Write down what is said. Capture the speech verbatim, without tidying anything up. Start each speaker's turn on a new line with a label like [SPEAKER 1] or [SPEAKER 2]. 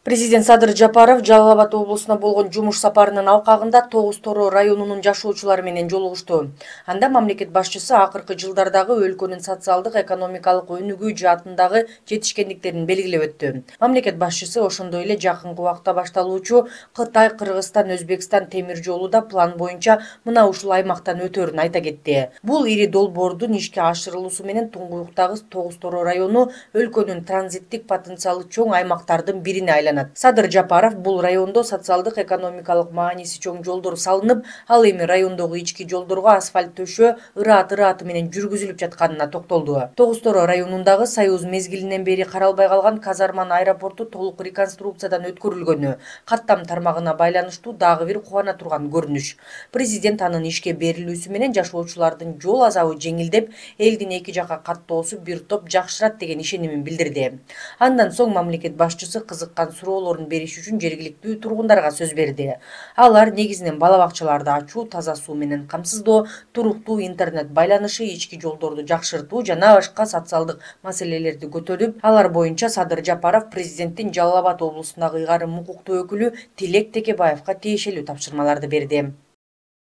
[SPEAKER 1] Президент Садыр Жапаров Жалал Абад облусуна болгон жумуш сапарынын алкагында Тогуз Торо районунун жашоочулары менен жолугушту. Анда мамлекет башчысы акыркы жылдардагы өлкөнүн социалдык экономикалык өнүгүү жаатындагы жетишкендиктерин белгилеп өттү. Мамлекет башчысы ошондой эле жакынкы убакта башталуучу Кытай, Кыргызстан, Өзбекстан темир жолу да план боюнча мына ушул аймактан өтөөрүн айта кетти. Бул ири долбоордун ишке ашырылуусу менен Туңгуюктагы Тогуз Торо району өлкөнүн транзиттик потенциалы чоң аймактардын бирине айланат. Садыр Жапаров бул райондо социалдык экономикалык мааниси чоң жолдор салынып, ал эми райондогу ички жолдорго асфальт төшөө ыраат-ырааты менен жүргүзүлүп жатканына токтолду. Тогуз Торо районундагы Союз мезгилинен бери каралбай калган казарманын аэропорту толук реконструкциядан өткөрүлгөнү каттам тармагына байланыштуу дагы бир кубана турган көрүнүш. Президент анын ишке берилүүсү менен жашоочулардын жол азабы жеңилдеп, элдин эки жака каттоосу бир топ жакшырат деген ишенимин билдирди. Андан соң мамлекет башчысы кызыккан суроолорун бериш үчүн жергиликтүү тургундарга сөз берди. Алар негизинен бала бакчаларды ачуу, таза суу менен камсыздоо, туруктуу интернет байланышы, ички жолдорду жакшыртуу жана башка социалдык маселелерди көтөрүп, алар боюнча Садыр Жапаров президенттин Жалал Абад облусундагы ыйгарым укуктуу өкүлү Тилек Текебаевга тиешелүү тапшырмаларды берди.